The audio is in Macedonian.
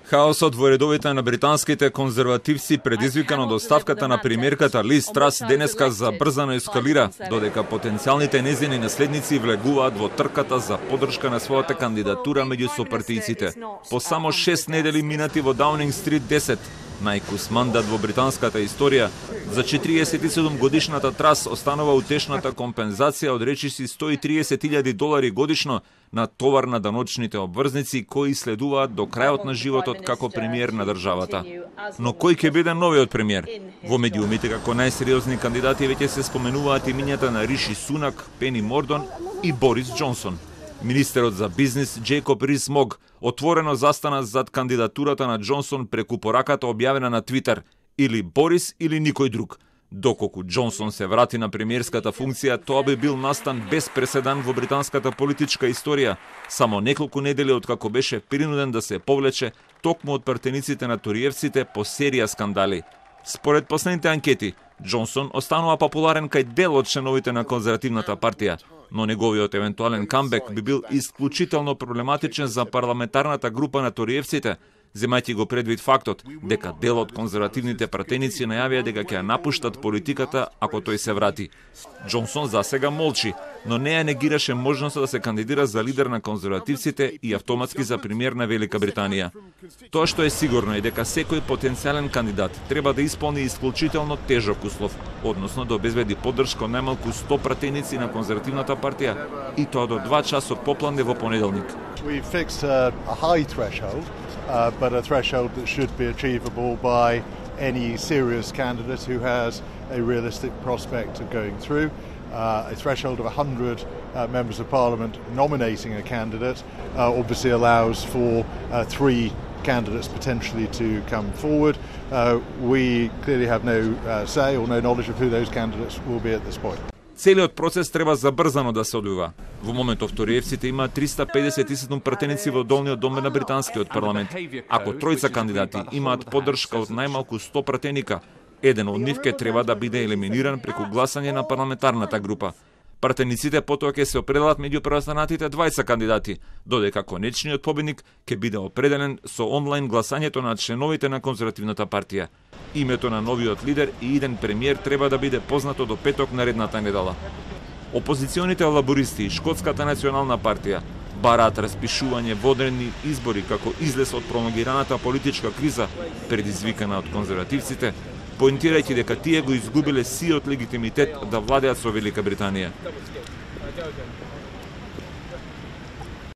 Хаосот во редовите на британските конзервативци, предизвикан од оставката на премиерката Лиз Трас, денеска забрзано ескалира, додека потенцијалните нејзини наследници влегуваат во трката за поддршка на својата кандидатура меѓу сопартијците. По само 6 недели минати во Даунинг Стрит 10, најкус мандат во британската историја, за 47 годишната Трас останува утешната компензација од речиси $130,000 годишно на товар на даночните обврзници кои следуваат до крајот на животот како премиер на државата. Но кој ќе биде новиот премиер? Во медиумите како најсериозни кандидати веќе се споменуваат имињата на Риши Сунак, Пени Мордон и Борис Џонсон. Министерот за бизнис Джейкоб Рис-Мог отворено застана зад кандидатурата на Џонсон преку пораката објавена на Твитер: или Борис или никој друг. Доколку Џонсон се врати на премиерската функција, тоа би бил настан без преседан во британската политичка историја, само неколку недели откако беше принуден да се повлече токму од партениците на ториевците по серија скандали. Според последните анкети, Џонсон останува популарен кај дел од членовите на конзервативната партија, но неговиот евентуален камбек би бил исклучително проблематичен за парламентарната група на ториевците, земајќи го предвид фактот дека дел од конзервативните пратеници најавија дека ќе ја напуштат политиката ако тој се врати. Џонсон засега молчи, но не ја негираше можноста да се кандидира за лидер на конзервативците и автоматски за премиер на Велика Британија. Тоа што е сигурно е дека секој потенцијален кандидат треба да исполни исклучително тежок услов, односно да обезбеди поддршка од најмалку 100 пратеници на конзервативната партија, и тоа до 2 часа попладне во понеделник. But a threshold that should be achievable by any serious candidate who has a realistic prospect of going through. A threshold of 100 members of parliament nominating a candidate obviously allows for 3 candidates potentially to come forward. We clearly have no say or no knowledge of who those candidates will be at this point. Целиот процес треба забрзано да се одвива. Во моментов ториевците имаат 357 пратеници во долниот дом на британскиот парламент. Ако тројца кандидати имаат поддршка од најмалку 100 пратеника, еден од нив ќе треба да биде елиминиран преку гласање на парламентарната група. Пратениците потоа ќе се определат меѓу преостанатите 20 кандидати, додека конечниот победник ќе биде определен со онлайн гласањето на членовите на конзервативната партија. Името на новиот лидер и иден премиер треба да биде познато до петок наредната недела. Опозиционите лабористи и Шкотската национална партија бараат распишување во одредени избори како излез од пролонгираната политичка криза предизвикана од конзервативците, поинтирајќи дека тие го изгубиле сиот легитимитет да владеат со Велика Британија.